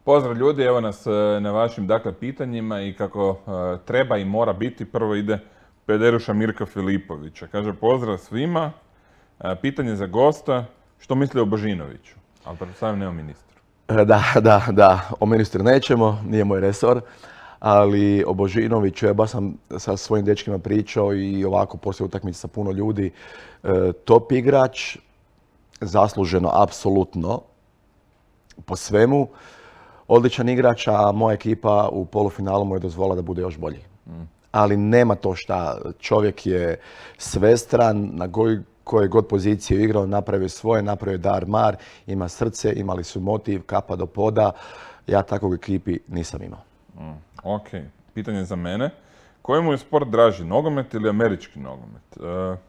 Pozdrav ljudi, evo nas na vašim pitanjima i kako treba i mora biti. Prvo ide Pederuša Mirka Filipovića. Kaže pozdrav svima, pitanje za gosta, što misli o Božinoviću? Ali pretpostavljam ne o ministru. Da, o ministru nećemo, nije moj resor, ali o Božinoviću, ja baš sam sa svojim dečkima pričao i ovako poslije utakmice sa puno ljudi. Top igrač, zasluženo, apsolutno, po svemu. Odličan igrač, a moja ekipa u polufinalu mu je dozvolila da bude još bolji. Ali nema to šta, čovjek je svestran, na koje god pozicije igrao, napravio svoje, napravio dar mar, ima srce, imali su motiv, kapa do poda. Ja takvog ekipi nisam imao. Ok, pitanje za mene. Kojemu je sport draži, nogomet ili američki nogomet?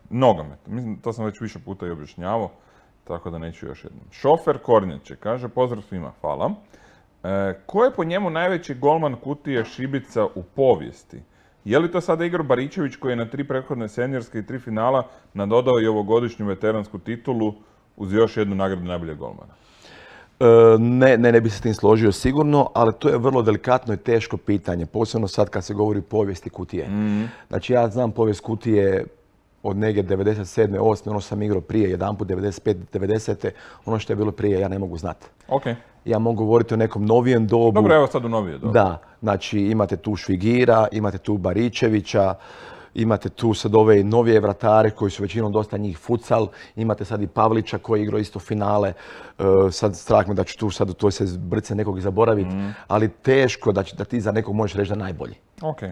Nogomet, mislim, to sam već više puta i objašnjavao, tako da neću još jednom. Šofer Kornjače kaže pozdrav svima, hvala. Ko je po njemu najveći golman Kutije Šibica u povijesti? Je li to sada Igor Baričević koji je na 3 prethodne seniorske i 3 finala nadodao i ovogodišnju veteransku titulu uz još jednu nagradu najboljeg golmana? Ne bi se s tim složio sigurno, ali to je vrlo delikatno i teško pitanje, posebno sad kad se govori o povijesti Kutije. Znači ja znam povijest Kutije od negdje 97. 8. ono sam igrao prije, jedanput 95. 90. Ono što je bilo prije ja ne mogu znati. Okay. Ja mogu govoriti o nekom novijem dobu. Dobro, evo sad u novije dobu. Da, znači imate tu Švigira, imate tu Baričevića, imate tu sad ove novije vratare koji su većinom dosta njih futsal, imate sad i Pavlića koji je igrao isto finale, sad strah me da ću tu sad u toj se brce nekog i zaboraviti, ali teško da ti za nekog možeš reći da je najbolji. Okay.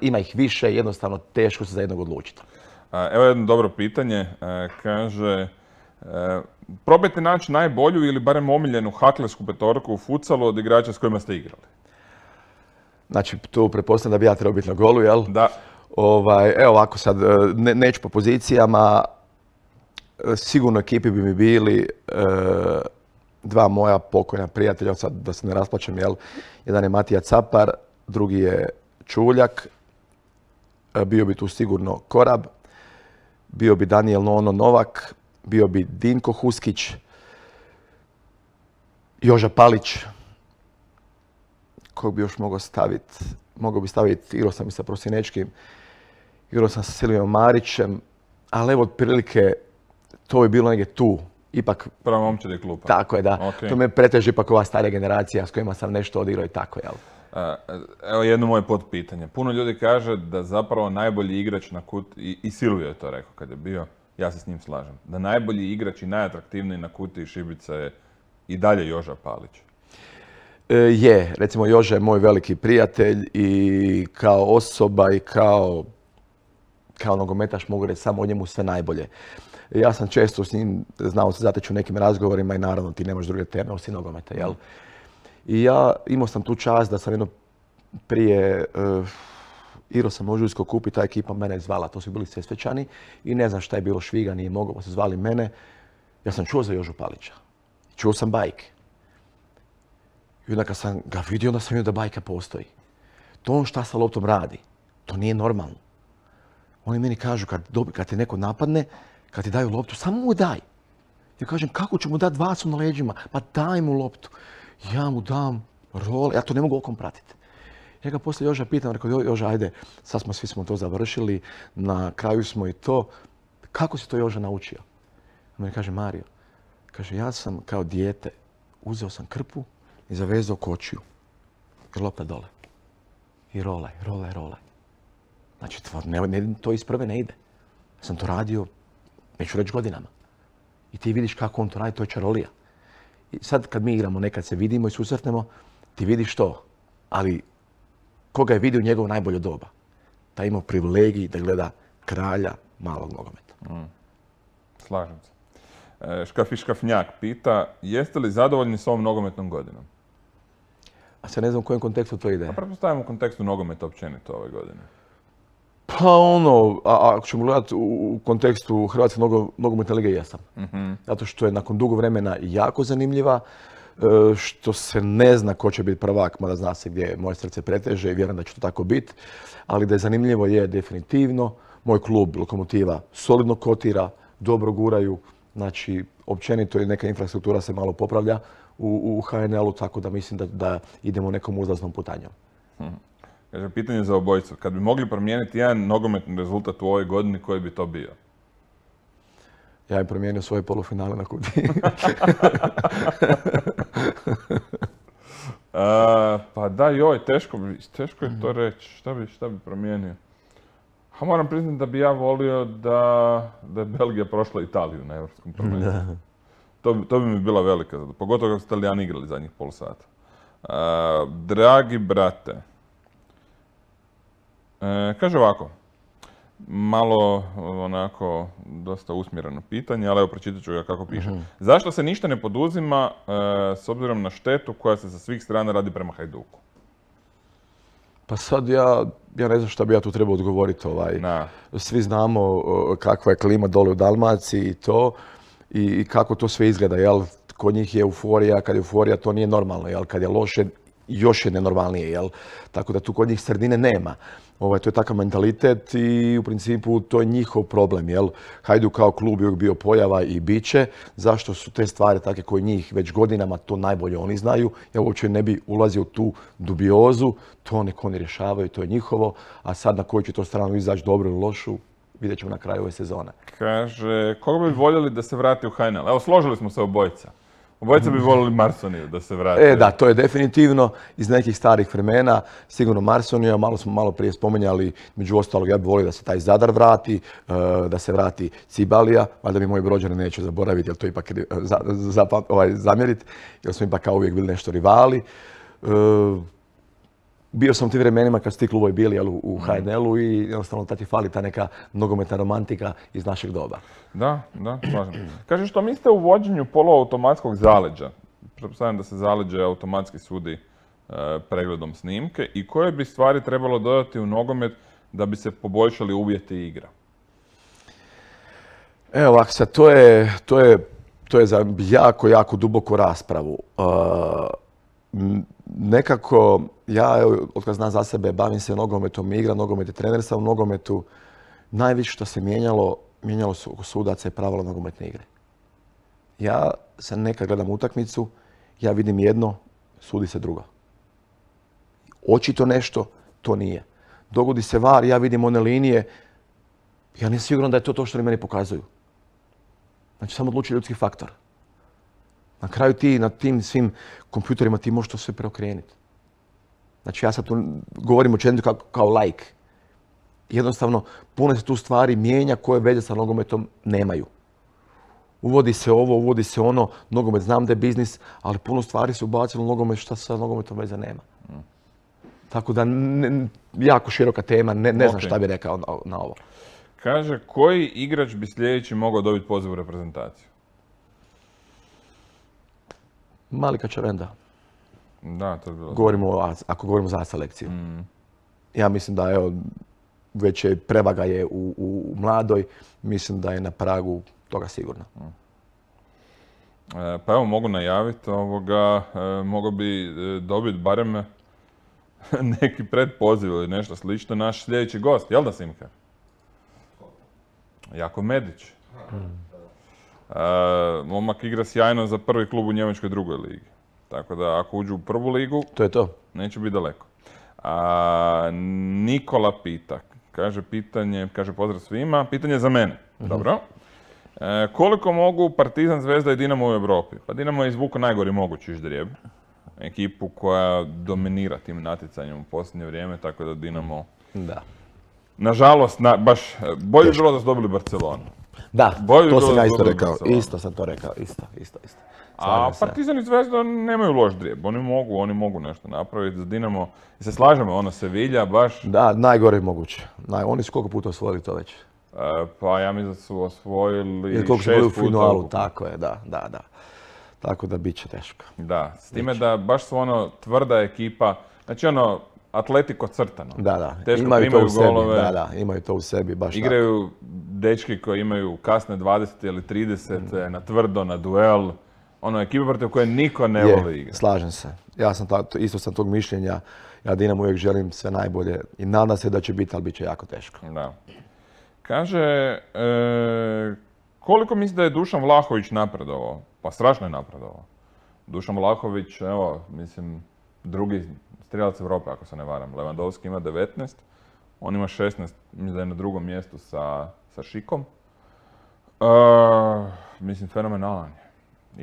Ima ih više, jednostavno teško se za jednog odlučiti. Evo jedno dobro pitanje, kaže probajte naći najbolju ili barem omiljenu haklesku petorku u futsalu od igrača s kojima ste igrali. Znači, tu pretpostavljam da bi ja trebao biti na golu, jel? Da. Evo ovako sad, neću po pozicijama, sigurno ekipi bi mi bili dva moja pokojna prijatelja, sad da se ne rasplačem, jel? Jedan je Matija Capar, drugi je Čuljak, bio bi tu sigurno Korab, bio bi Daniel Nono Novak, bio bi Dinko Huskić, Joža Palić, kog bi još mogao staviti? Mogao bi staviti, igrao sam i sa Prosinečkim, igrao sam sa Silvijom Marićem, ali evo otprilike to bi bilo negdje tu. Ipak... Prva momčad je klupa. Tako je, da. Okay. To me preteže ipak ova starija generacija s kojima sam nešto odigrao i tako, jel? Evo jedno moje potpitanje. Puno ljudi kaže da zapravo najbolji igrač na Kutiji, i Silvio je to rekao kad je bio, ja se s njim slažem, da najbolji igrač i najatraktivniji na Kutiji Šibica je i dalje Joža Palić. Je, recimo Joža je moj veliki prijatelj i kao osoba i kao nogometaš mogu reći samo o njemu sve najbolje. Ja sam često s njim znao se zateći u nekim razgovorima i naravno ti nemaš druge teme osim nogometa, jel? I ja imao sam tu čast da sam jedno prije igrao sam Ožujsko kup i ta ekipa mene je zvala, to su bili Sesvečani i ne znam šta je bilo, Šviga nije mogao, pa su zvali mene. Ja sam čuo za Jožu Palića, čuo sam bajke. I onda kad sam ga vidio, onda sam vidio da bajka postoji. To on šta sa loptom radi, to nije normalno. Oni meni kažu kad te neko napadne, kad ti daju loptu, samo mu daj. Ja kažem, kako ću mu dati 2 su na leđima? Pa daj mu loptu. Ja mu dam role, ja to ne mogu okom pratiti. Ja ga poslije Joža pitam, rekao, Joža, ajde, sad svi smo to završili, na kraju smo i to. Kako si to Joža naučio? On meni kaže, Mario, kaže, ja sam kao dijete, uzeo sam krpu i zavezao kočiju. I lopta dole. I rolaj. Znači, to iz prve ne ide. Ja sam to radio, neću reći godinama. I ti vidiš kako on to radi, to je čarolija. I sad kad mi igramo, nekad se vidimo i susretnemo, ti vidiš to. Ali koga je vidio njegovo najbolje doba? Taj imao privilegij da gleda kralja malog nogometa. Slažem se. Škafiškafnjak pita, jeste li zadovoljni s ovom nogometnom godinom? A se ne znam u kojem kontekstu to ide. A pretpostavljam u kontekstu nogometa općenito ove godine. Pa ako ćemo gledati u kontekstu Hrvatske nogometne lige, jesam. Zato što je nakon dugo vremena jako zanimljiva, što se ne zna ko će biti prvak, mada zna se gdje moje srce preteže i vjerujem da će to tako biti. Ali da je zanimljivo je definitivno. Moj klub Lokomotiva solidno kotira, dobro guraju. Znači, općenito i neka infrastruktura se malo popravlja u HNL-u, tako da mislim da idemo nekom uzlaznom putanjom. Kaže, pitanje za obojicu. Kad bi mogli promijeniti jedan nogometni rezultat u ovoj godini, koji bi to bio? Ja bi promijenio svoje polufinale na Kutiji. Pa da, joj, teško je to reći. Šta bi promijenio? Moram priznati da bi ja volio da je Belgija prošla Italiju na Europskom prvenstvu. To bi mi bila velika zadovoljstva, pogotovo kako su Italijani igrali zadnjih pol sata. Dragi brate, kaže ovako, malo onako dosta usmjereno pitanje, ali evo pročitat ću ga kako piše. Zašto se ništa ne poduzima s obzirom na štetu koja se sa svih strana radi prema Hajduku? Pa sad ja ne znam šta bi ja tu trebao odgovoriti. Svi znamo kakva je klima dole u Dalmaciji i to i kako to sve izgleda. Jel? Kod njih je euforija, kad je euforija to nije normalno. Jel? Kad je loše, još je nenormalnije. Jel? Tako da tu kod njih sredine nema. To je takav mentalitet i u principu to je njihov problem. Jel? Hajduk kao klub je uvijek bio pojava i bit će. Zašto su te stvari takve koje njih već godinama, to najbolje oni znaju. Ja uopće ne bi ulazio u tu dubiozu. To nek oni rješavaju, to je njihovo. A sad na koju će to stranu izaći, dobro ili lošu, vidjet ćemo na kraju ove sezone. Kaže, koga bi voljeli da se vrati u HNL? Evo, složili smo se obojica. Obojica bi voljeli Marsoniju da se vrati. Da, to je definitivno iz nekih starih vremena. Sigurno Marsonija, malo prije spomenjali, među ostalog ja bih volio da se taj Zadar vrati, da se vrati Cibalija, valjda mi moji Brođani neće zaboraviti, jer to ipak zamjeriti, jer smo ipak kao uvijek bili nešto rivali. Bio sam u tim vremenima kad su ti klubovi bili u HNL-u i jednostavno ta ti fali ta neka nogometna romantika iz našeg doba. Da, slažem. Kaže, što mislite o uvođenju poluautomatskog zaleđa? Pretpostavljam da se zaleđe automatski sudi pregledom snimke i koje bi stvari trebalo dodati u nogomet da bi se poboljšali uvjeti igre? Evo ovako sad, to je za jako duboku raspravu. Nekako, ja otkad znam za sebe, bavim se nogometom i igram nogomet i trener sam u nogometu. Najviše što se mijenjalo su sudaca i pravila nogometne igre. Ja se nekad gledam utakmicu, ja vidim jedno, sudi se drugo. Očito nešto, to nije. Dogodi se VAR, ja vidim one linije, ja nisam siguran da je to što oni meni pokazuju. Znači, samo odluči ljudski faktor. Na kraju ti na tim svim kompjuterima ti možeš to sve preokrenuti. Znači ja sad tu govorim općenito kao laik. Jednostavno, puno se tu stvari mijenja koje veze sa nogometom nemaju. Uvodi se ovo, uvodi se ono, nogomet znam da je biznis, ali puno stvari se ubacilo u nogomet šta sa nogometom veze nema. Tako da, jako široka tema, ne znam šta bi rekao na ovo. Kaže, koji igrač bi sljedeći mogao dobiti poziv u reprezentaciju? Malika Čavenda. Da, to je bilo. Ako govorimo za selekciju. Ja mislim da već je prevaga je u mladoj, mislim da je na pragu toga sigurno. Pa evo, mogu najaviti mogu bi dobiti barem neki predpoziv ili nešto slično. Naš sljedeći gost, jel da, Simka? Jako Medić. Momak igra sjajno za prvi klub u Njemačkoj drugoj ligi. Tako da ako uđu u prvu ligu, to je to. Neće biti daleko. Nikola pita, kaže pozdrav svima, pitanje za mene. Dobro. Koliko mogu Partizan, Zvezda i Dinamo u Europi? Pa Dinamo je izvukao najgori mogući ždrijeb. Ekipu koja dominira tim natjecanjem u posljednje vrijeme, tako da Dinamo... Da. Nažalost, baš bolje bi bilo da su dobili Barcelonu. Da, to sam ja isto rekao. Isto sam to rekao, isto. A Partizan i Zvezda nemaju loš drijeb. Oni mogu nešto napraviti za Dinamo. I se slažemo, Sevilla baš... Da, najgore moguće. Oni su koliko puta osvojili to već? Pa ja mislim da su osvojili 6 puta. Koliko su u finalu, puta. tako je, da. Tako da bit će teško. Da, s time da baš su tvrda ekipa. Znači Atletico crtano. Da. Teško imaju primaju to u golove. Da, imaju to u sebi, baš igraju dečki koji imaju kasne 20 ili 30 na tvrdo, na duel. Ekipa protiv koje niko ne voli igrati. Slažem se. Ja sam isto sam tog mišljenja. Ja Dinamo uvijek želim sve najbolje i nadam se da će biti, ali bit će jako teško. Da. Kaže, Koliko misli da je Dušan Vlahović napredovao? Pa strašno je napredovao. Dušan Vlahović, evo, mislim, drugi strijelac Europe, ako se ne varam. Lewandowski ima 19, on ima 16, mislim da je na drugom mjestu sa Šikom. Mislim, fenomenalan je.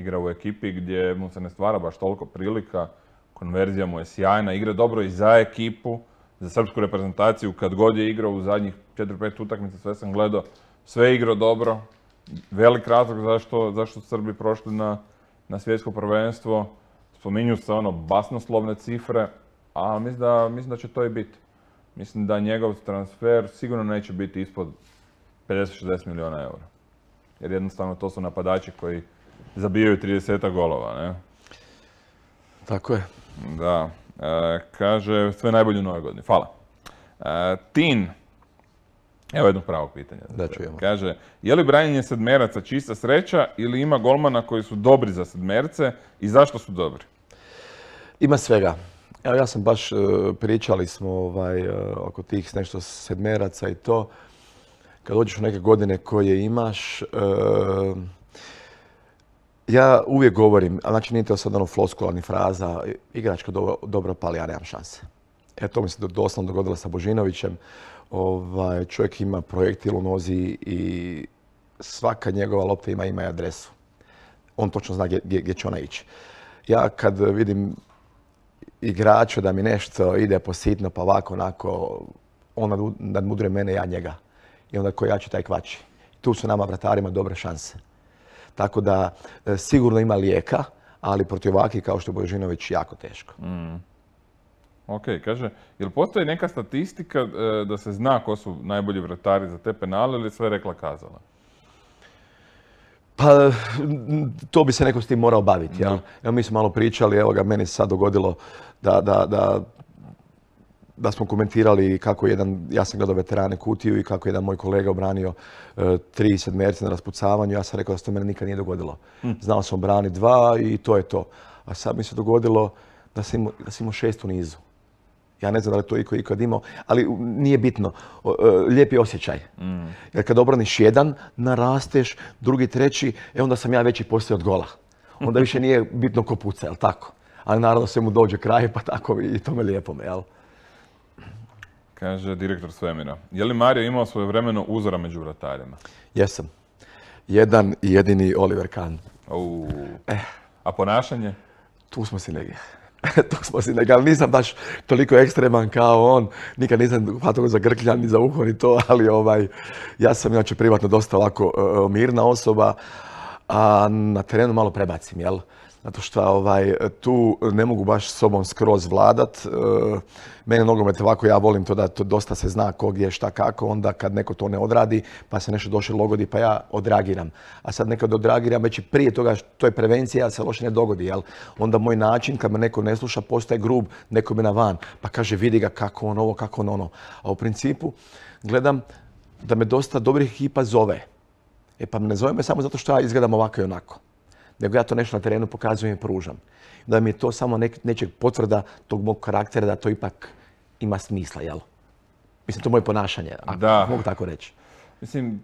Igra u ekipi gdje mu se ne stvara baš toliko prilika, konverzija mu je sjajna, igra dobro i za ekipu, za srpsku reprezentaciju, kad god je igrao u zadnjih 4-5 utakmica, sve sam gledao, sve je igrao dobro. Velik razlog zašto su Srbi prošli na svjetsko prvenstvo. Spominju se basnoslovne cifre, a mislim da će to i biti. Mislim da njegov transfer sigurno neće biti ispod 50-60 milijuna eura. Jer jednostavno to su napadači koji zabijaju 30 golova, ne? Tako je. Da. Kaže, sve najbolje u Novoj godini. Hvala. Tin. Evo jedno pravo pitanje. Da, čujemo. Kaže, je li branjenje sedmeraca čista sreća ili ima golmana koji su dobri za sedmerce i zašto su dobri? Ima svega. Evo ja sam baš, pričali smo oko tih nešto sedmeraca i to. Kad dođeš u neke godine koje imaš, ja uvijek govorim, a znači nije to sad floskula ni fraza, igračka dobro pali, ja nemam šanse. To mi se doslovno dogodilo sa Božinovićem. Čovjek ima projektil u nozi i svaka njegova lopta ima ime i adresu. On točno zna gdje će ona ići. Ja kad vidim igrača da mi nešto ide po sitno, pa ovako, onako, on nadmudruje mene, ja njega. I onda ko jači, taj kvači. Tu su nama vratarima dobre šanse. Tako da sigurno ima lijeka, ali protiv ovakvih kao što je Božinović jako teško. Ok, kaže, jel postoji neka statistika da se zna ko su najbolji vratari za te penale ili sve rekla kazala? Pa, to bi se neko s tim morao baviti. Ja? Evo, mi smo malo pričali, evo ga, meni se sad dogodilo da smo komentirali kako ja sam gledao Veterane Kutiju i kako jedan moj kolega obranio 3 sedmerce na raspucavanju. Ja sam rekao da se to mene nikad nije dogodilo. Znao sam obraniti 2 i to je to. A sad mi se dogodilo da sam imao 6 u nizu. Ja ne znam da li to iko ikad imao, ali nije bitno. Lijepi osjećaj. Jer kad obraniš jedan, narasteš, drugi, treći, onda sam ja veći poslije od gola. Onda više nije bitno ko puca, jel tako? Ali naravno sve mu dođe kraj, pa tako i to me lijepo me, jel? Kaže direktor Svemira. Je li Mario imao svojevremeno uzora među vratarima? Jesam. Jedan i jedini Oliver Kahn. A ponašanje? Tu smo si negdje. Ali nisam baš toliko ekstreman kao on. Nikad nisam hvatao za grkljan, ni za uho, ni to, ali ja sam inače privatno dosta ovako mirna osoba, a na terenu malo prebacim, jel? Zato što tu ne mogu baš s sobom skroz vladat. Mene nogomet ovako, ja volim to da to dosta se zna ko gdje, šta, kako. Onda kad neko to ne odradi, pa se nešto došlo logodi, pa ja odragiram. A sad nekad odragiram već i prije toga, to je prevencija, da se loše ne dogodi, jel? Onda moj način, kad me neko ne sluša, postaje grub, neko me na van. Pa kaže, vidi ga kako on ovo, kako on ono. A u principu gledam da me dosta dobrih ekipa zove. Pa ne zove me samo zato što ja izgledam ovako i onako. Nego ja to nešto na terenu pokazujem i pružam. Da mi je to samo nečeg potvrda tog mog karaktera da to ipak ima smisla, jel? Mislim, to je moje ponašanje, ako mogu tako reći. Mislim,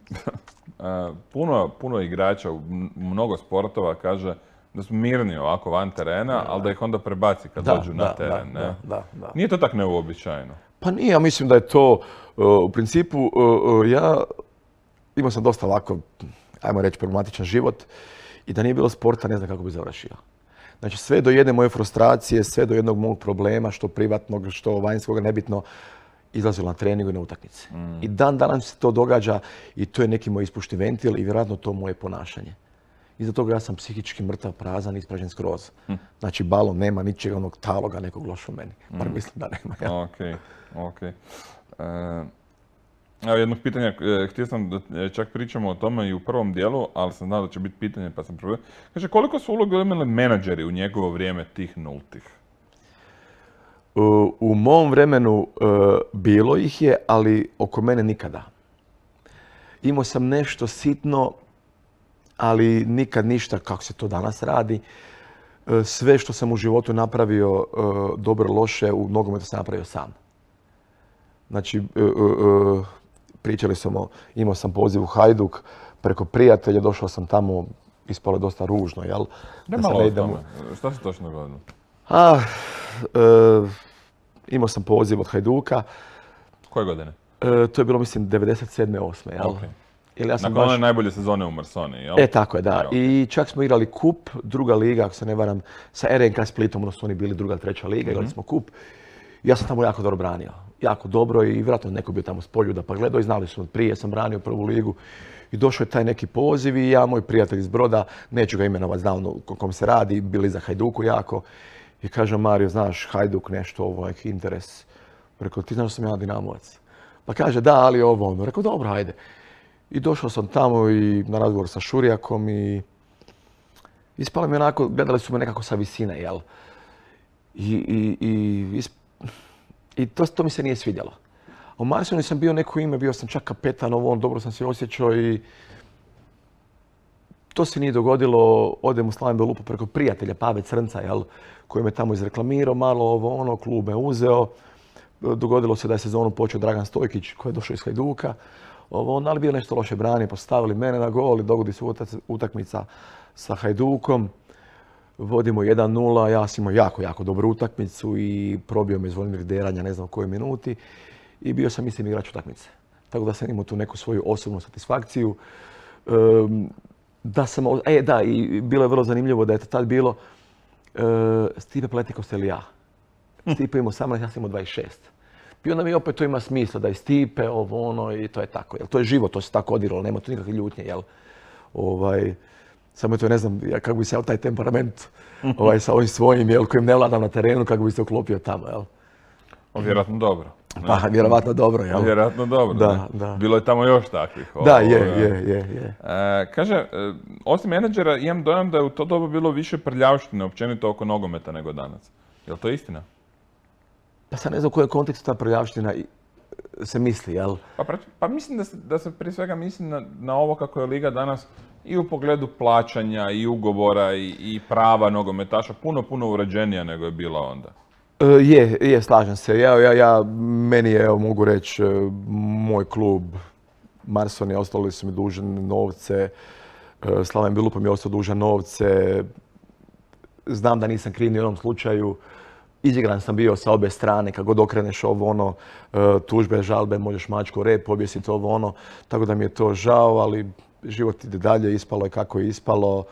puno igrača u mnogo sportova kaže da su mirni ovako van terena, ali da ih onda prebaci kad dođu na teren. Da. Nije to tak neuobičajeno? Pa nije, ja mislim da je to, u principu, ja imao sam dosta ovako, ajmo reći, problematičan život. I da nije bilo sporta, ne znam kako bi završio. Znači, sve do jedne moje frustracije, sve do jednog mog problema, što privatnog, što vanjskog, nebitno, izlazilo na treningu i na utakmice. I dan danas se to događa i to je neki moj ispušni ventil i vjerojatno to moje ponašanje. Iza toga ja sam psihički mrtav, prazan, ispražen skroz. Znači, balon nema ničega onog taloga nekog loša u meni. Bar mislim da nema. Ja. Ok. Evo jednog pitanja, htio sam da čak pričamo o tome i u prvom dijelu, ali sam znao da će biti pitanje pa sam probao. Kaže, koliko su uloge imali menadžeri u njegovo vrijeme tih nultih? U mom vremenu bilo ih je, ali oko mene nikada. Imao sam nešto sitno, ali nikad ništa kako se to danas radi. Sve što sam u životu napravio dobro, loše, u nogometu sam napravio sam. Znači, pričali smo, imao sam poziv u Hajduk, preko prijatelja, došao sam tamo, ispalo je dosta ružno, jel? Da malo o tome. Šta se točno dogodilo? Imao sam poziv od Hajduka. Koje godine? To je bilo, mislim, 97. 8. jel? Okay. Nakon one najbolje sezone u Marsoni, jel? Tako je, da. I čak smo igrali kup, druga liga, ako se ne varam, sa RNK Splitom, odnosno oni bili druga, treća liga, igrali smo kup. Ja sam tamo jako dobro branio. Jako dobro i vjerojatno neko bio tamo s Poljuda pa gledao i znali su od prije, sam branio prvu ligu. I došao je taj neki poziv i ja, moj prijatelj iz Broda, neću ga imenovati, znam o kom se radi, bili za Hajduku jako. I kaže, Mario, znaš, Hajduk nešto, interes. Rekao, ti znaš da sam ja Dinamovac? Pa kaže, da, ali ovo ono. Rekao, dobro, hajde. I došao sam tamo i na razgovor sa Šurijakom i ispalo mi onako, gledali su me nekako sa visine, jel? I to mi se nije svidjelo. A u Marsoni sam bio neko ime, bio sam čak kapetan, dobro sam se osjećao i to se nije dogodilo. Odem u Slaven Belupo preko prijatelja Pave Crnca, jel, koji me tamo izreklamirao, malo klub me uzeo. Dogodilo se da je sezonu počeo Dragan Stojkić koji je došao iz Hajduka. Ali bio nešto loše branio, postavili mene na gol i dogodi se utakmica sa Hajdukom. Vodimo 1-0, ja sam imao jako dobru utakmicu i probio me Zvonimir Deranja, ne znam u kojoj minuti. I bio sam, mislim, igrač utakmice. Tako da sam imao tu neku svoju osobnu satisfakciju. I bilo je vrlo zanimljivo da je to tad bilo Stipe Pletikos ili ja. Stipe imao 18, ja sam imao 26. I onda mi opet to ima smisla da je Stipe, i to je tako. To je život, to se tako odiralo, nema tu nikakve ljutnje, jel? Samo to ne znam kako bi se taj temperament sa ovim svojim, jel, kojim ne vladam na terenu, kako bi se uklopio tamo, jel? Vjerojatno dobro. Pa, vjerovatno dobro, jel? Vjerojatno dobro, da. Bilo je tamo još takvih. Da, je. Kaže, osim menadžera, imam dojam da je u to doba bilo više prljavštine općenito oko nogometa nego danas. Je li to istina? Pa sad ne znam u kojem kontekstu ta prljavština se misli, jel? Pa mislim da se prije svega misli na ovo kako je liga danas i u pogledu plaćanja i ugovora i prava nogometaša puno uređenija nego je bila onda. Je, slažem se. Meni je, mogu reći, moj klub Marsoni ostali su mi dužni novce, Slaven Belupo mi je ostao dužan novce. Znam da nisam kriv ni u onom slučaju. Izigran sam bio sa obje strane, kako god okreneš tužbe, žalbe, možeš mačku rep, objesiti tako da mi je to žao, ali život ide dalje, ispalo je kako je ispalo.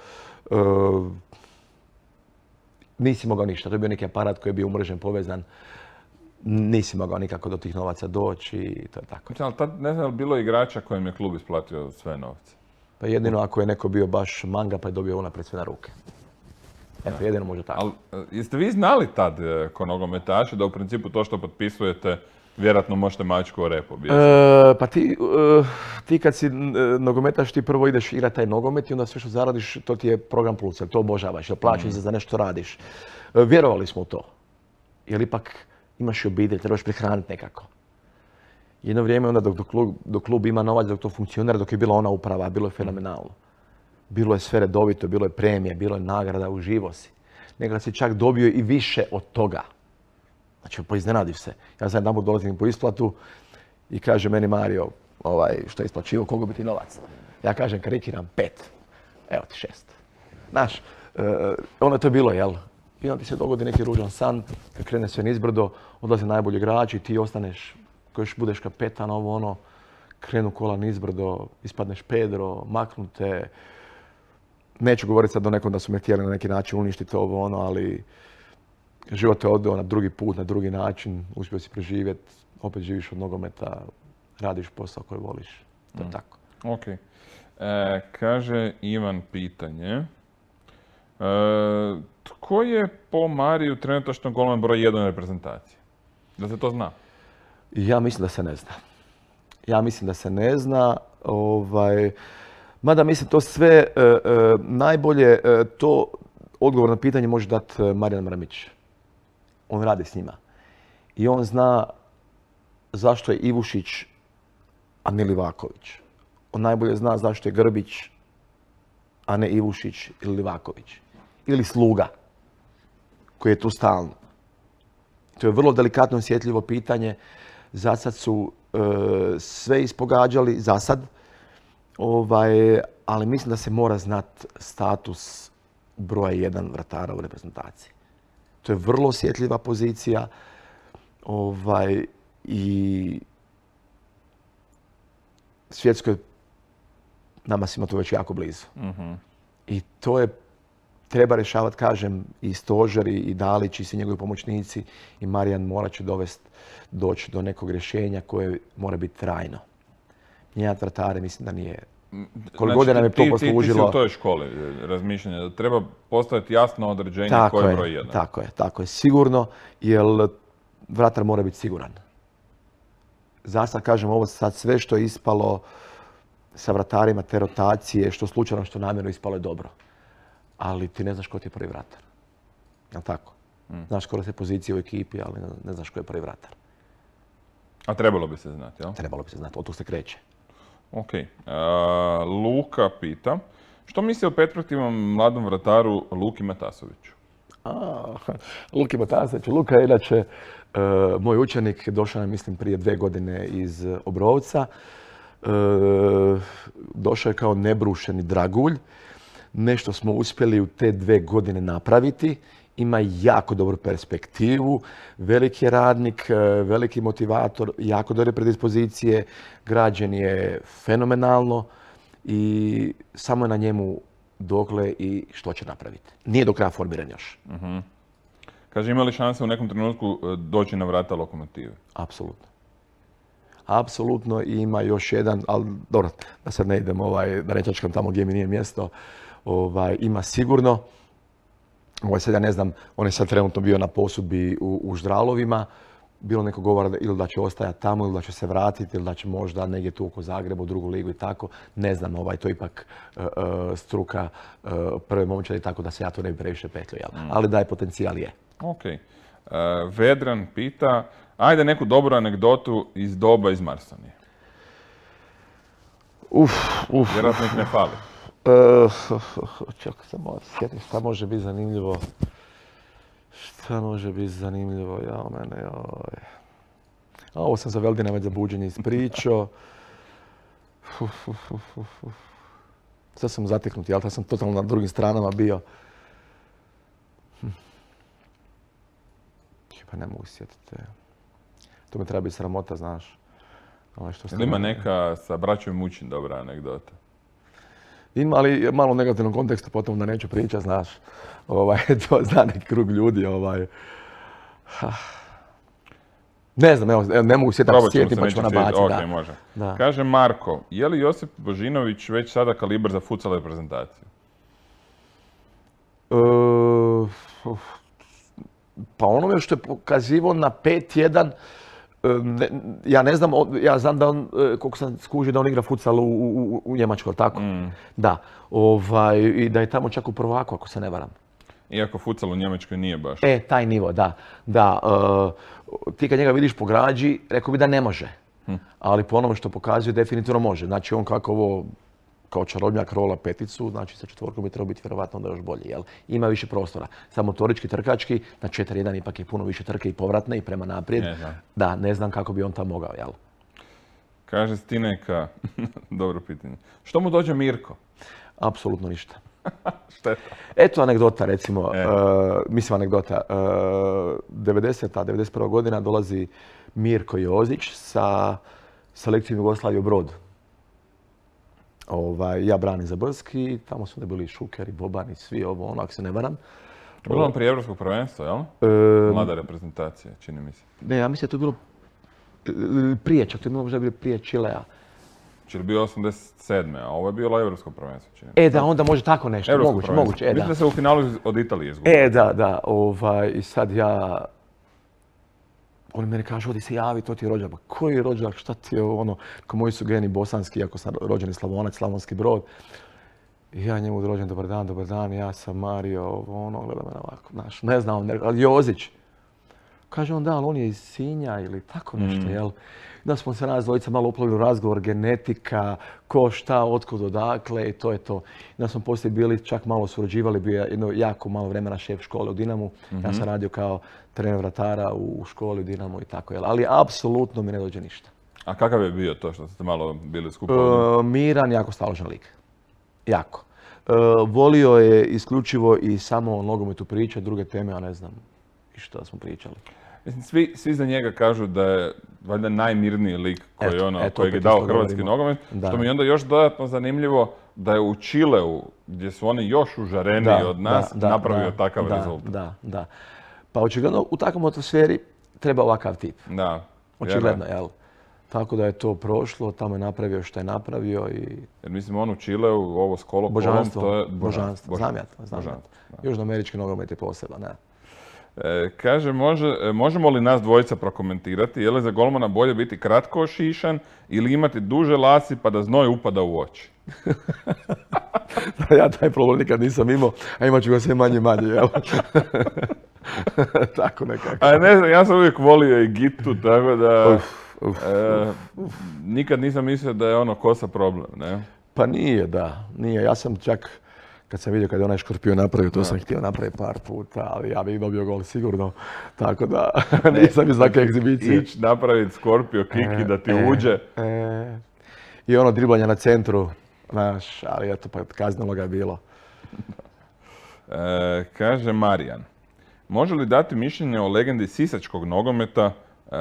Nisi mogao ništa, to je bio neki aparat koji je bio umrežen, povezan. Nisi mogao nikako do tih novaca doći i to je tako. Ali tad ne znam, bilo igrača kojem je klub isplatio sve novce? Pa jedino ako je neko bio baš manga pa je dobio unaprijed sve na ruke. Eto, jedino može tako. Ali jeste vi znali tad ko nogometaši da u principu to što potpisujete vjerojatno možete mačku o rep objesiti? Pa ti kad si nogometaš ti prvo ideš igrati taj nogomet i onda sve što zaradiš to ti je program plus, jer to obožavaš, jer plaćaš za nešto radiš. Vjerovali smo u to, jer ipak imaš i obitelj, trebaš prehraniti nekako. Jedno vrijeme onda dok klub ima novac, dok to funkcionira, dok je bila ona uprava, bilo je fenomenalno. Bilo je sve redovito, bilo je premije, bilo je nagrada, uživo si. Nekada si čak dobio i više od toga. Znači, poiznenadiš se. Ja sad jedanput dolazim po isplatu i kaže meni Mario, što je isplaćivo, koliko bi ti novac? Ja kažem, karikiram 5. Evo ti 6. Znaš, onda to je bilo, jel? I onda ti se dogodi neki ružan san, kad krene sve nizbrdo, odlaze najbolji igrači, ti ostaneš, koji još budeš kapetan, krenu kola nizbrdo, ispadneš Pedro, maknute. Neću govoriti sad o nekom da su me htjeli na neki način uništiti ali život te odveo na drugi put, na drugi način, uspio si preživjeti, opet živiš od nogometa, radiš posao koji voliš. To je tako. Ok. Kaže Ivan pitanje. Tko je po Mariju trenutačno golman broj 1 reprezentacije? Da se to zna? Ja mislim da se ne zna. Mada mislim to sve najbolje, to odgovor na pitanje može dati Marijan Mrmić. On radi s njima. I on zna zašto je Ivušić, a ne Livaković. On najbolje zna zašto je Grbić, a ne Ivušić ili Livaković. Ili Sluga, koji je tu stalno. To je vrlo delikatno osjetljivo pitanje. Zasad su sve ispogađali, zasad. Ali mislim da se mora znat status broja 1 vratara u reprezentaciji. To je vrlo osjetljiva pozicija i svjetskoj nama svima to već jako blizu. I to je treba rješavati, kažem, i Stožer, i Dalić, i svi njegovi pomoćnici, i Marijan morat će doći do nekog rješenja koje mora biti trajno. Mijenjati vratare mislim da nije. Koliko godina nam je to poslužilo. Ti si u toj školi razmišljanja, da treba postaviti jasno određenje koji je broj 1. Tako je, sigurno, jer vratar mora biti siguran. Za sad, kažem, ovo sad sve što je ispalo sa vratarima, te rotacije, što slučajno, što namjerno ispalo je dobro. Ali ti ne znaš ko ti je prvi vratar. Jel' tako? Znaš skoro se pozicije u ekipi, ali ne znaš ko je prvi vratar. A trebalo bi se znati, jel? Trebalo bi se znati, od tog se kreće. Ok. Luka pita, što misli o perspektivnom mladom vrataru Luki Matasoviću? Luki Matasović. Luka je inače moj učenik, došao je, mislim, prije 2 godine iz Obrovca. Došao je kao nebrušeni dragulj. Nešto smo uspjeli u te 2 godine napraviti. Ima jako dobru perspektivu, veliki je radnik, veliki motivator, jako dobre predispozicije, građen je fenomenalno i samo je na njemu dokle i što će napraviti. Nije do kraja formiran još. Kaže, ima li šanse u nekom trenutku doći na vrata Lokomotive? Apsolutno. Apsolutno, i ima još jedan, ali dobro, da sad ne idem, da ne čačkam tamo gdje mi nije mjesto, ima sigurno. Sad ja ne znam, on je sad trenutno bio na posudbi u Ždralovima. Bilo neko govora ili da će ostajati tamo, ili da će se vratiti, ili da će možda negdje tu oko Zagreba u drugu ligu i tako. Ne znam, to je ipak struka prve momčadi, tako da se ja to ne bi previše petljao. Ali da je potencijal je. Ok. Vedran pita, ajde neku dobru anegdotu iz doba iz Marsonije. Vjerojatno ih ne fali. Čekaj, sam malo sjetim šta može biti zanimljivo. Šta može biti zanimljivo, ovo sam za Veldina već za buđenje ispričao. Sad sam zateknut, jel? Sad sam totalno na drugim stranama bio. Pa ne mogu sjetiti. To mi treba biti sramota, znaš. Ili ima neka sa braćom Mučin dobra anegdota? Ima, ali malo u negativnom kontekstu, potom da neću pričati, znaš. To zna neki krug ljudi. Ne znam, evo, ne mogu sjetiti pa ćemo nabaciti. Ok, može. Kaže Marko, je li Josip Božinović već sada kalibar za futsal reprezentaciju? Pa onome što je pokazivao na 5-1, ja ne znam, ja znam da on, koliko sam skužio, da on igra futsal u Njemačkoj, tako? Da. I da je tamo čak u prvaku, ako se ne varam. Iako futsal u Njemačkoj nije baš. Taj nivo, da. Ti kad njega vidiš po građi, rekao bi da ne može. Ali po onome što pokazuje, definitivno može. Znači on kako ovo, kao čarobnjak rola peticu, znači sa 4 bi trebao biti vjerovatno onda još bolji, jel? Ima više prostora. Samo motorički, trkački, na 4-1 ipak je puno više trke i povratne i prema naprijed. Da, ne znam kako bi on tam mogao, jel? Kaže Stineka, dobro pitanje. Što mu dođe Mirko? Apsolutno ništa. Šteta. Eto anegdota, recimo, mislim anegdota. 91. godina dolazi Mirko Jozić sa selekcijom Jugoslavije u Brodu. Ja branim za Brski, tamo su bili Šuker i Boban i svi ovo, ako se ne varam. Bilo prije Evropskog prvenstva, jel? Mlada reprezentacija, čini mi se. Ne, ja mislim da je to bilo prije, čak to je možda bilo prije Čilea. Čili bio 87. a ovo je bilo Evropsko prvenstvo, čini mi se. Da, onda može tako nešto, moguće. Mislim da se u finalu od Italije izgubio. Da, i sad ja... Oni meni kažu, odi se javi, to ti je rođak. Pa koji je rođak, šta ti je ono? Ko moji su geni bosanski, iako sam rođeni Slavonac, Slavonski Brod. I ja njemu rođen, dobar dan, ja sam Mario, gleda mene ovako, znaš, ne znam, ali Jozić. Kaže on, da, ali on je iz Sinja ili tako nešto, jel? Da smo se nas dvojica malo uplovili u razgovor, genetika, ko, šta, otkud, odakle i to je to. Da smo poslije bili, čak malo surađivali, bio je jedno jako malo vremena šef škole u Dinamu. Ja sam radio kao trener vratara u školi u Dinamu i tako, jel? Ali apsolutno mi ne dođe ništa. A kakav je bio to što ste malo bili skupa? Miran, jako staložen lik. Jako. Volio je isključivo i samo o nogometu pričati, druge teme, ja ne znam i što smo pričali. Mislim, svi za njega kažu da je valjda najmirniji lik koji je dao hrvatski nogomet, što mi je onda još dodatno zanimljivo da je u Čileu, gdje su oni još užareniji od nas, napravio takav rezultat. Da. Pa očigledno u takvom atmosferi treba ovakav tip. Da. Očigledno, jel? Tako da je to prošlo, tamo je napravio što je napravio i... Jer mislim, on u Čileu, ovo s Kolo-Kolom, to je... Božanstvo. Znam ja to. Južnoamerički nogomet je poseban, ne? Kaže, možemo li nas dvojica prokomentirati, je li za golmana bolje biti kratko ošišan ili imati duže lasi pa da znoj upada u oči? Ja taj problem nikad nisam imao, a imat ću ga sve manje, jel? Tako nekako. A ne znam, ja sam uvijek volio i Gitu, tako da... Nikad nisam mislio da je ono kosa problem, ne? Pa nije, da. Nije. Ja sam čak, kad sam vidio kad je onaj Škorpion napravio, to sam htio napraviti par puta, ali ja bih dobio gol sigurno. Tako da nisam iz neke egzibicije. Ići napraviti Skorpio kick i da ti uđe. I ono driblanje na centru, znaš, ali eto, pa kaznilo ga je bilo. Kaže Marijan, može li dati mišljenje o legendi sisačkog nogometa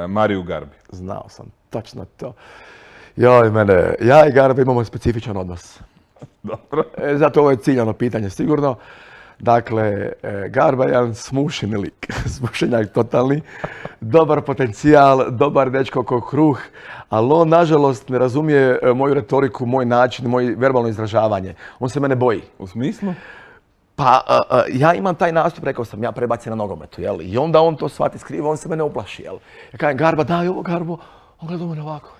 Mariju Garbi? Znao sam, točno to. Ja i Garbi imamo specifičan odnos. Dobro. Zato ovo je ciljano pitanje sigurno. Dakle, Garba je jedan smušeni lik, smušenjak totalni, dobar potencijal, dobar dečko ko kruh, ali on nažalost ne razumije moju retoriku, moj način, moje verbalno izražavanje. On se mene boji. U smislu? Pa ja imam taj nastup, rekao sam, ja prebacim na nogometu, jel? I onda on to shvati skrivo, on se mene uplaši, jel? Ja kažem, Garba, daj ovo, Garbo, on gleda u mene ovako.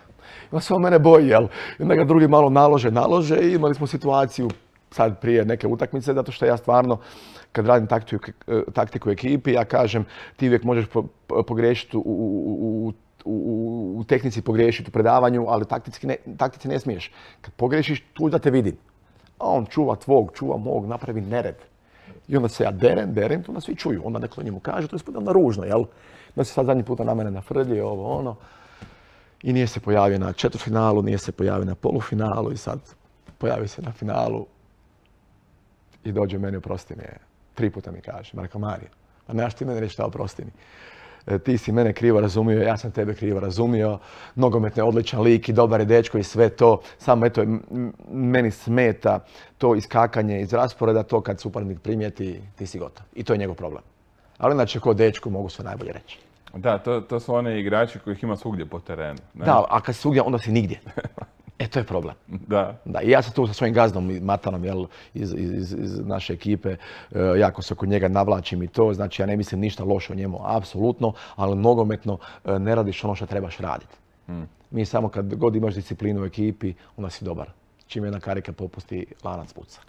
I on se on mene boji, jel? I onda ga drugi malo nalože i imali smo situaciju sad prije neke utakmice, zato što ja stvarno, kad radim taktiku u ekipi, ja kažem, ti uvijek možeš pogriješiti u tehnici, pogriješiti u predavanju, ali taktici ne smiješ. Kad pogriješiš, tu da te vidim. A on čuva tvog, čuva mog, napravi nered. I onda se ja derem, to onda svi čuju. Onda neko njemu kaže, to je onda ružno, jel? Da se sad zadnji puta na mene nafrdi, ovo, ono. I nije se pojavio na četvrtfinalu, nije se pojavio na polufinalu i sad pojavi se na finalu. I dođe meni, oprosti mi, 3 puta mi kaže. Rekao, Marija, pa nemaš ti mene reći šta, oprosti mi. Ti si mene krivo razumio, ja sam tebe krivo razumio. Nogomet je odličan lik i dobar je dečko i sve to. Samo eto, meni smeta to iskakanje iz rasporeda, to kad suparnik primijeti, ti si gotov. I to je njegov problem. Ali inače, ko dečko mogu sve najbolje reći. Da, to su one igrači kojih ima svugdje po terenu. Ne? Da, a kad si svugdje, onda si nigdje. To je problem. Da. I ja sam tu sa svojim gazdom Matanom, jel, iz naše ekipe, jako se oko njega navlačim i to, znači ja ne mislim ništa loše o njemu, apsolutno, ali nogometno ne radiš ono što trebaš raditi. Mi samo kad god imaš disciplinu u ekipi, onda si dobar. Čim jedna karika popusti, lanac puca.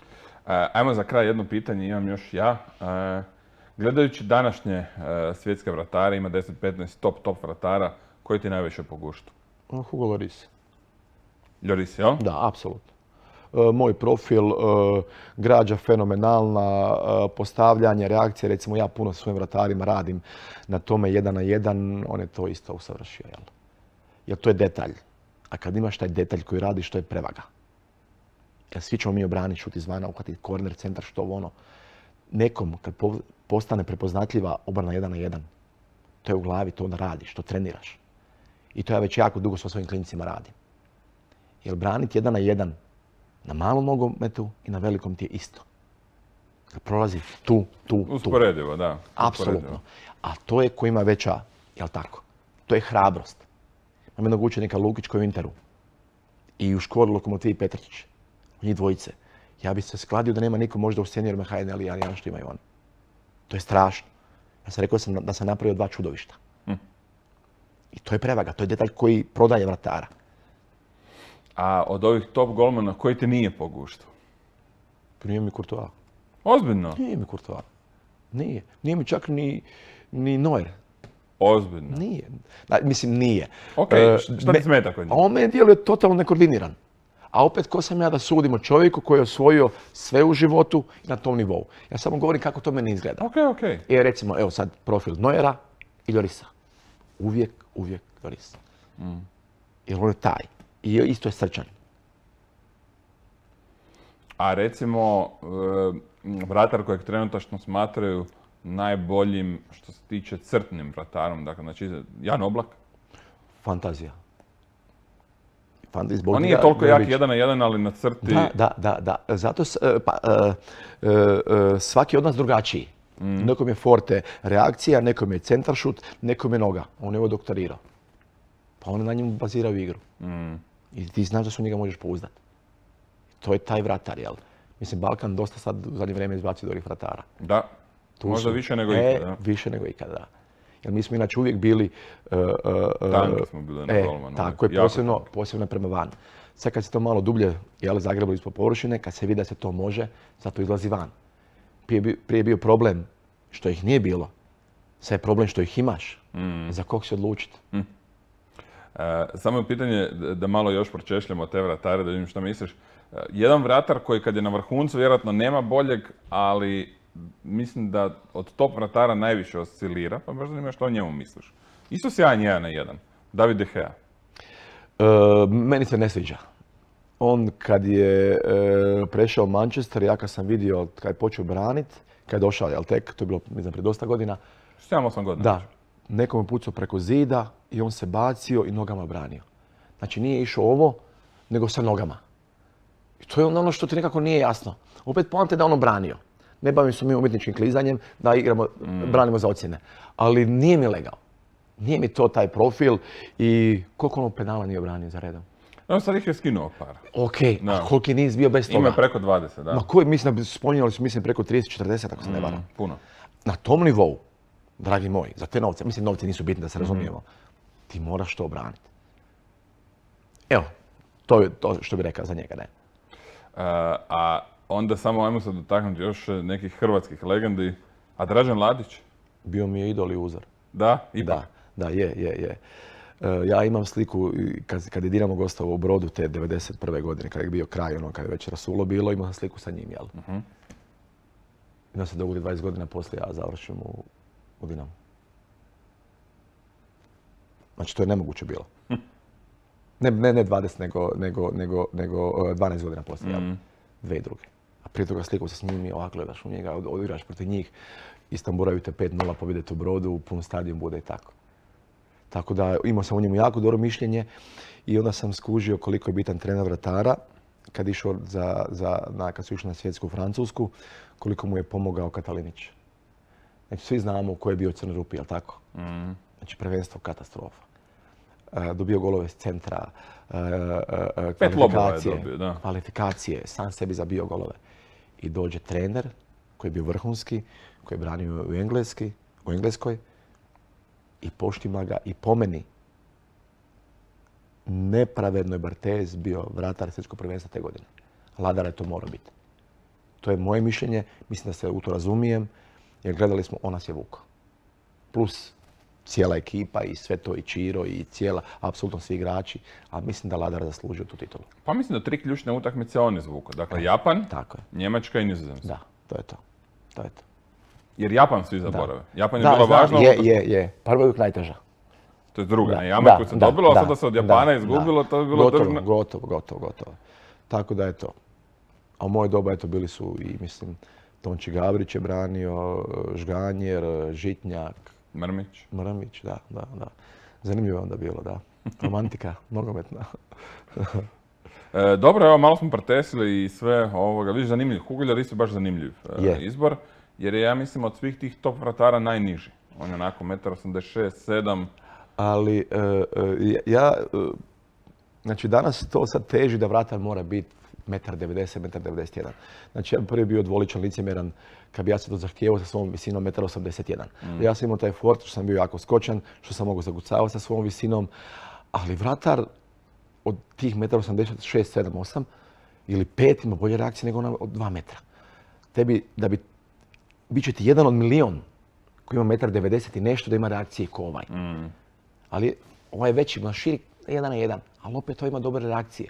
Ajmo za kraj jedno pitanje, imam još ja. Gledajući današnje svjetske vratare, ima 10-15 top vratara, koji ti najviše po guštu? Hugo Lloris. Lloris, jel? Da, apsolutno. Moj profil, građa fenomenalna, postavljanje, reakcije, recimo ja puno s svojim vratarima radim na tome 1 na 1, on je to isto usavršio, jel? Jer to je detalj. A kad imaš taj detalj koji radiš, to je prevaga. Jer svi ćemo mi obraniti, šut izvana, uhvatiti korner, centar, što ono. Nekom, kad postane prepoznatljiva obrana 1 na 1, to je u glavi, to onda radiš, to treniraš. I to ja već jako dugo sa svojim klincima radim. Jer braniti 1 na 1 na malom nogometu i na velikom ti je isto. Kad prolazi tu. Usporedivo, da. Apsolutno. A to je ko ima veća, jel tako? To je hrabrost. Imam jednog učenika Lukić koji je u Interu. I u školi Lokomotivi Petrčić. Njih dvojice. Ja bi se skladio da nema niko možda u seniorima HNL i Alijana što imaju oni. To je strašno. Ja sam rekao da sam napravio 2 čudovišta. I to je prevaga, to je detalj koji prodaje vratara. A od ovih top golmana koji ti nije po guštu? Nije mi Courtois. Ozbiljno? Nije mi Courtois. Nije. Nije mi čak ni Neuer. Ozbiljno? Nije. Mislim, nije. Okej, šta ti smeta kod njega? On meni djeluje totalno nekoordiniran. A opet, ko sam ja da sudim o čovjeku koji je osvojio sve u životu na tom nivou. Ja samo govorim kako to meni izgleda. Okej. I recimo, evo sad profil Neuera i Llorisa. Uvijek Lloris. Jer on je taj. I isto je srčan. A recimo, vratar kojeg trenutačno smatraju najboljim što se tiče crtnim vratarom, dakle, znači Jan Oblak. Fantazija. On nije toliko jak 1-1, ali na crti... Da. Zato svaki od nas drugačiji. Nekom je forte reakcija, nekom je centaršut, nekom je noga. On je ovo doktorirao. Pa on je na njemu bazirao igru. I ti znaš da se u njega možeš pouzdati. To je taj vratar, jel? Mislim, Balkan dosta sad u zadnje vrijeme izbacio dobrih vratara. Da, možda više nego ikada. Više nego ikada, da. Jer mi smo inače uvijek bili... Tanki smo bili na golmanu. Tako je, posebno prema van. Sad kad se to malo dublje, jel, zagrebali ispod površine, kad se vidi da se to može, zato izlazi van. Prije je bio problem što ih nije bilo. Sad je problem što ih imaš. Za kog se odlučiti? Samo je pitanje da malo još pročešljamo te vratare, da vidim što misliš. Jedan vratar koji kad je na vrhuncu vjerojatno nema boljeg, ali mislim da od top vratara najviše oscilira, pa baš zanima što o njemu misliš. Isto sjajan 1-1, David De Gea. Meni se ne sviđa. On kad je prešao Manchester, ja kad sam vidio kad je počeo braniti, kad je došao, jel tek, to je bilo, mislim, prije dosta godina. 7-8 godina. Da. Nekom je pucao preko zida i on se bacio i nogama branio. Znači nije išao ovo, nego sa nogama. I to je ono što ti nekako nije jasno. Opet poante da ono branio. Ne bavim se mi umjetničkim klizanjem, da igramo, branimo za ocjene. Ali nije mi legao. Nije mi to taj profil i koliko ono penala nije branio za redom. No, sad ih je skinuo par. Ok, a koliki je niz bio bez toga? Ima preko 20, da. Ma koji, mislim, spominjali su, mislim, preko 30-40, ako se ne varam. Puno. Na tom nivou, dragi moji, za te novce, mislim, novci nisu bitni da se razumijemo, ti moraš to obraniti. Evo, to je to što bi rekao za njega, ne. A onda samo ajmo se dotaknuti još nekih hrvatskih legendi. A Dražen Ladić? Bio mi je idol i uzor. Da? Ipak? Da, je. Ja imam sliku, kad je Dinamo gostovao u Brodu te 91. godine, kad je bio kraj, ono, kad je već rasulo bilo, imao sam sliku sa njim, jel? I onda se dogodi 20 godina poslije, ja završim u Dinamo. Znači, to je nemoguće bilo. Ne 20, nego 12 godina poslije, jel? 2002. A prije toga sliku se s njim i ovako gledaš u njega, odigraš protiv njih, istamburaju te 5-0, pobjedete u Brodu, pun stadion bude i tako. Tako da imao sam o njemu jako dobro mišljenje i onda sam skužio koliko je bitan trener vratara kad kad su išli na svjetsku Francusku, koliko mu je pomogao Katalinić. Znači svi znamo ko je bio Crni Rupi, jel tako? Znači prvenstvo katastrofa. Dobio golove s centra, kvalifikacije, sam sebi zabio golove. I dođe trener koji je bio vrhunski, koji je branio u Engleskoj, i poštima ga i po meni nepravedno je Barthez bio vratar svjetskog prvenstva te godine. Ladara je to morao biti. To je moje mišljenje, mislim da se u to razumijem, jer gledali smo, on nas je vukao. Plus cijela ekipa i sve to i Čiro i apsolutno svi igrači, a mislim da Ladar zaslužio tu titulu. Pa mislim da 3 ključne utakmice on izvukao. Dakle, Japan, Njemačka i Nizozemska. Da, to je to. Jer Japan svi zaborave. Japan je bilo važno. Je. Prva je uvijek najteža. To je druga. Jama koju se dobilo, a sada se od Japana izgubilo, to je bilo držno. Gotovo. Tako da je to. A u moje doba bili su i, mislim, Tonči Gavrić je branio, Žganjer, Žitnjak. Mrmić, da. Zanimljivo je onda bilo, da. Romantika, nogometna. Dobro, evo, malo smo pretesili i sve ovoga. Vidiš, zanimljiv. Huguljar isto baš zanimljiv izbor. Jer je, ja mislim, od svih tih top vratara najniži. On je onako 1,86 m, 7. Ali znači danas to sad teži da vratar mora biti 1,90 m, 1,91 m. Znači ja bi prvi bio dvoličan, licemjeran, kad bi ja se to zahtijevao sa svom visinom 1,81 m. Ja sam imao taj fort, što sam bio jako skočan, što sam mogao zagucavati sa svom visinom. Ali vratar od tih 1,86 m, 7, 8 ili 5 ima bolje reakcije nego ona od 2 metra. Bit će ti jedan od milion koji ima 1,90 m i nešto da ima reakcije ko ovaj. Ali ovaj je veći, ima širi 1:1, ali opet to ima dobre reakcije.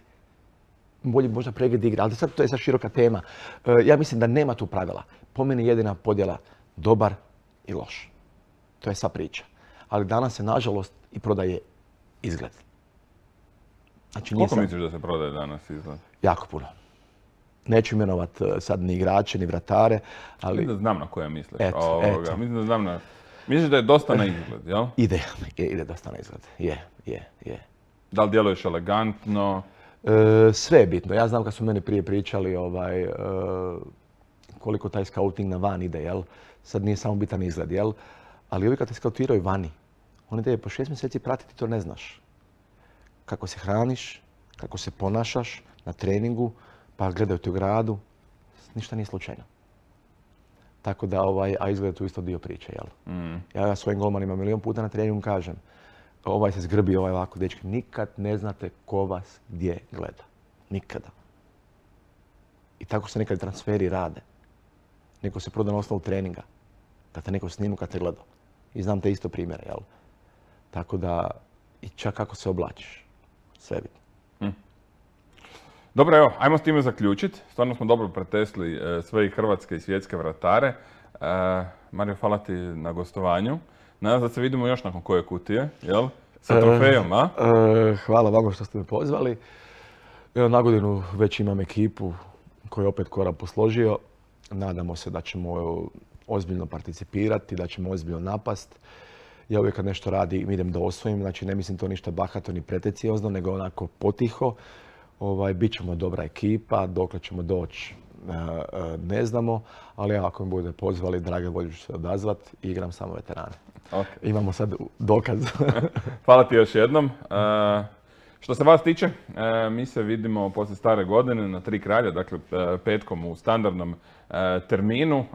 Bolji možda pregled igre, ali sad to je sad široka tema. Ja mislim da nema tu pravila. Po meni jedina podjela dobar i loš. To je sva priča. Ali danas se nažalost i prodaje izgled. Znači, Koliko misliš da se prodaje danas izgled? Jako puno. Neću imenovat sad ni igrače, ni vratare, ali... Mislim da znam na koje misliš. Eto. Mislim da znam na... Misliš da je dosta na izgled, jel? Ide dosta na izgled. Je. Da li djeluješ elegantno? Sve je bitno. Ja znam kad su meni prije pričali koliko taj scouting na van ide, jel? Sad nije samo bitan izgled, jel? Ali ovi kad te skautiraju vani, oni te po 6 mjeseci pratiti, to ne znaš. Kako se hraniš, kako se ponašaš na treningu, pa gledaju te u gradu, ništa nije slučajno. Tako da, a izgled je tu isto dio priče, jel? Ja svojim golmanima milion puta na treningu kažem, ovaj se zgrbi, ovaj ovako, dečki, nikad ne znate ko vas gdje gleda. Nikada. I tako se nekad transferi rade. Neko se proda na osnovu treninga, da te neko snimu kad te gleda. I znam te isto primjere, jel? Tako da, i čak kako se oblačiš, sve bitno. Dobro, evo, ajmo s time zaključiti. Stvarno smo dobro pretesli sve i hrvatske i svjetske vratare. Mario, hvala ti na gostovanju. Nadam se da se vidimo još nakon koje kutije, jel? Sa trofejom, a? Hvala vama što ste me pozvali. Evo, na godinu već imam ekipu koju je opet korak posložio. Nadamo se da ćemo ozbiljno participirati, da ćemo ozbiljno napast. Ja uvijek kad nešto radim idem da osvojim, znači ne mislim to ništa bahato ni pretenciozno, nego onako potiho. Bićemo dobra ekipa, dokle ćemo doći ne znamo, ali ako me bude pozvali, drage volje ću se odazvat i igram samo veterane. Okay. Imamo sad dokaz. Hvala ti još jednom. Što se vas tiče, mi se vidimo poslije stare godine na Tri kralja, dakle petkom u standardnom terminu.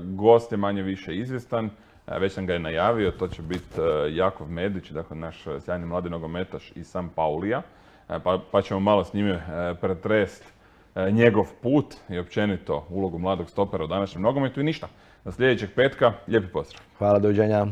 Gost je manje više izvjestan, već sam ga je najavio, to će biti Jakov Medić, dakle naš sjajni mladi nogometaš iz San Paulija. Pa ćemo malo s njime pretrest njegov put i općenito ulogu mladog stopera u današnjem nogometu i ništa. Do sljedećeg petka, lijepi pozdrav. Hvala, doviđenja.